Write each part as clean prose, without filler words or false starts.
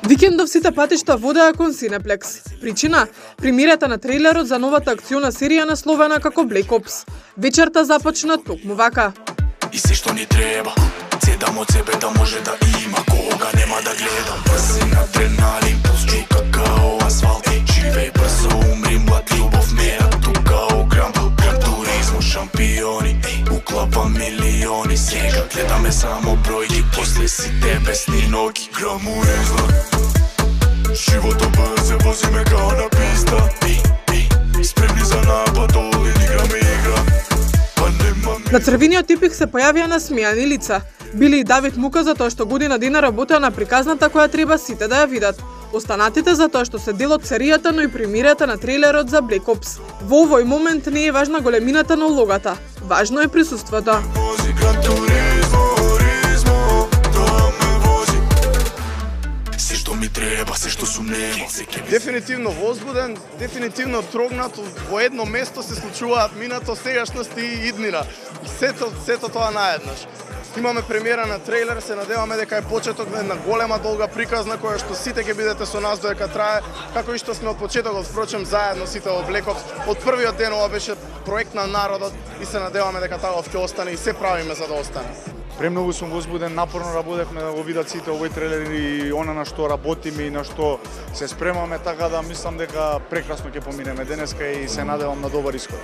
Викендов сите патишта водеа кон Синеплекс. Причина? Премиерата на трейлерот за новата акциона серија насловена како Black Ops. Вечерта започна токму вака. И се што ни треба, цедам од себе да може да има кога нема да гледам. Брзин адреналин, пулс чука као асфалт. Живеј брзо, умри млад, љубов мера тука ограм. Гран туризмо, шампиони, уклапа милиони. Сега гледаме само бројки, после сите бесни ноги. Граму излак, живото брзе, возиме као на писта. Спремни за напад, олин, играме игра. На црвениот типик се појавија насмејани лица. Били и Давид Мука за тоа што година дена работеа на приказната која треба сите да ја видат. Останатите за тоа што се дел од серијата, но и премиерата на трейлерот за Black Ops. Во овој момент не е важна големината на улогата. Важно е присуството. Ми треба, се што сум немо. Дефинитивно возбуден, дефинитивно трогнат, во едно место се случуваат минато, сегашност и иднина. Сето тоа наеднаш. Имаме премиера на трейлер, се надеваме дека е почеток на една голема долга приказна која што сите ќе бидете со нас додека трае, како и што сме од почетокот, впрочем заедно сите во Black Ops. Од првиот ден ова беше проект на народот и се надеваме дека таков ќе остане и се правиме за да остане. Премногу сум возбуден, напорно работевме да го видат сите овој трейлер и она на што работиме и на што се спремаме, така да мислам дека прекрасно ќе поминеме денеска и се надевам на добар исход.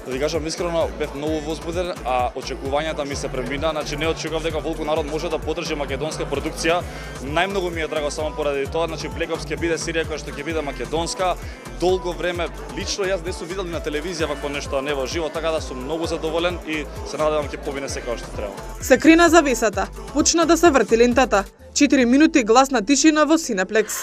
Да ти кажам искрено, бев многу возбуден, а очекувањата ми се премина, значи не очекував дека Волку народ може да поддржи македонска продукција. Најмногу ми е драго само поради тоа, значи Black Ops ќе биде серија која што ќе биде македонска. Долго време лично јас не сум видел на телевизија вако нешто не во живо, така да сум многу задоволен и се надевам ќе побине секако што треба. Се крена завесата, почна да се врти лентата. 4 минути гласна тишина во Синеплекс.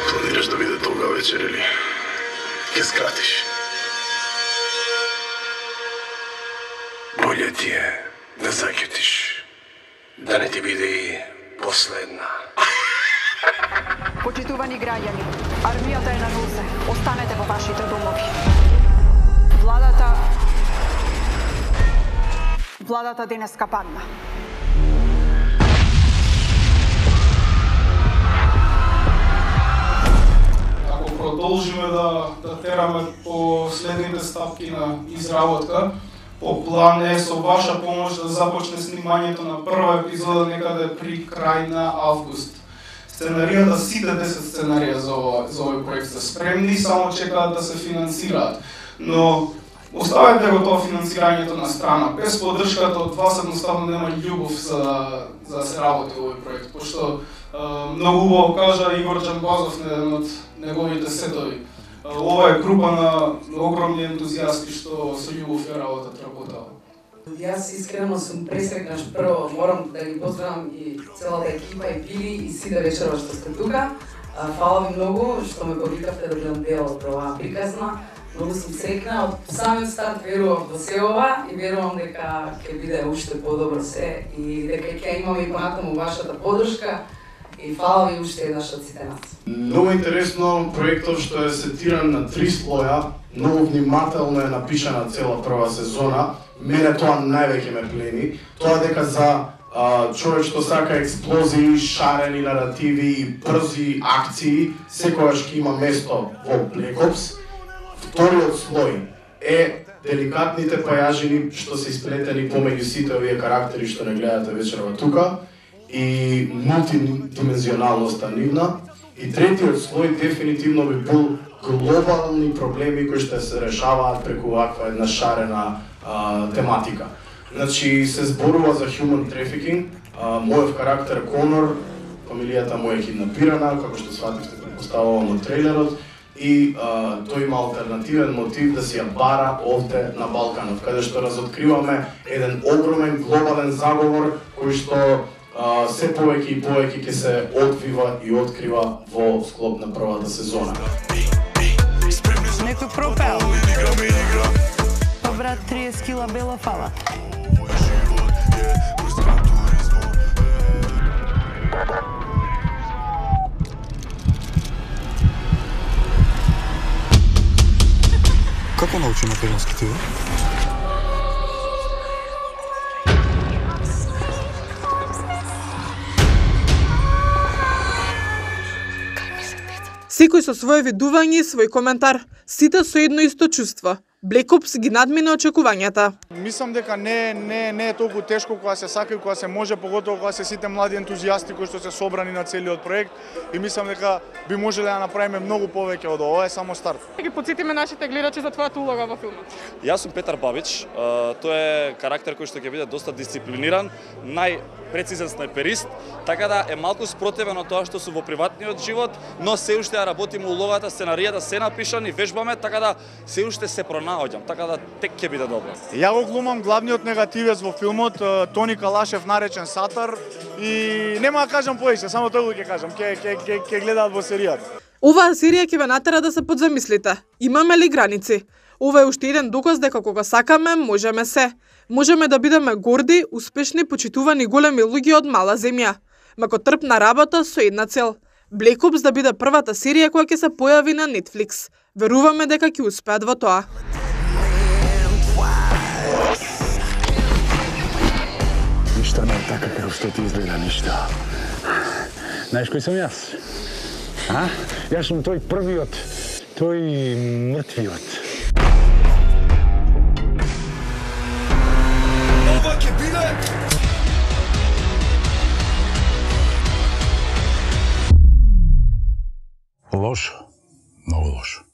Планираш да биде долга вечер или ќе скратиш? Болje ти е да заќутиш, да не ти биде и последна. Почитувани граѓани, армијата е на нозе. Останете во вашите домови. Владата денеска падна. Ако продолжиме да тераме по следните ставки на изработка, по план е со ваша помош да започне снимањето на прва епизода некаде при крај на август. Сценаријата, сите 10 сценарија за овој проект се спремни, само чекаат да се финансираат. Но оставете го тоа финансирањето на страна. Без поддршката од вас едноставно нема љубов за да се работи овој проект, пошто многу убаво кажа Игор Джамбазов на еден од неговите сетови. Ова е група на огромни ентузијасти што со љубов ја работат. Јас искрено сум пресрекна што прво морам да ги поздравам и целата екипа и Пили и сите вечерва што сте тука. Фала ви многу што ме повикавте да бидам дел од оваа приказна. Многу сум срекна, од самиот старт верувам во се ова и верувам дека ќе биде уште подобро се и дека ќе имаме и понатаму вашата поддршка. И фала ви уште еднаш од сите нас. Многу интересно проектот што е сетиран на 3 слоја, многу внимателно е напишана цела прва сезона. Мене тоа највеќе ме плени. Тоа дека за човек што сака експлозии, шарени наративи и брзи акции, секогаш ќе има место во Black Ops. Вториот слој е деликатните пајажини што се исплетени помеѓу сите овие карактери што не гледате вечерва тука и мултидимензионалноста нивна. И третиот слој дефинитивно би бил глобални проблеми кои што се решаваат преку ваква една шарена тематика. Значи се зборува за human trafficking, мојов карактер Конор, фамилијата му е киднапирана, како што свативте предпоставувам од трейлерот, и тој има алтернативен мотив да си ја бара овде на Балканот, каде што разоткриваме еден огромен глобален заговор кој што се повеќе и повеќе ќе се одвива и открива во склоп на првата сезона. Некој пропел. Брат 30 кила бела фала. Како научи македонски ти? Секој со свое видување и свој коментар, сите со едно исто чувство. Black Ops ги надмина очекувањата. Мислам дека не е толку тешко кога се сака и кога се може, поготово кога се сите млади ентузијасти кои што се собрани на целиот проект, и мислам дека би можеле да направиме многу повеќе од ова, е само старт. Ги потсетиме нашите гледачи за твојата улога во филмот. Јас сум Петар Бабич, тој е карактер кој што ќе биде доста дисциплиниран, најпрецизен снайперист, така да е малку спротивен од тоа што сум во приватниот живот, но се уште ја работиме улогата, сценаријата се напишани, вежбаме, така да се уште се пронаоѓам, така да тек ќе биде добро. Ја го глумам главниот негативец во филмот, Тони Калашев, наречен Сатар, и нема да кажам повеќе, само тоа ќе кажам, ќе гледаат во серијата. Оваа серија ќе ве натера да се подзамислите. Имаме ли граници? Ова е уште еден доказ дека кога сакаме, можеме се. Можеме да бидеме горди, успешни, почитувани големи луѓе од мала земја. Макотрпна работа со една цел. Black Ops да биде првата серија која ќе се појави на Netflix. Веруваме дека ќе успеат во тоа. Ништо не е така како што ти изгледа, ништо. Знаеш кој сум јас? А? Јас сум тој првиот, тој мртвиот. Ова ќе биде Лошо, многу лошо.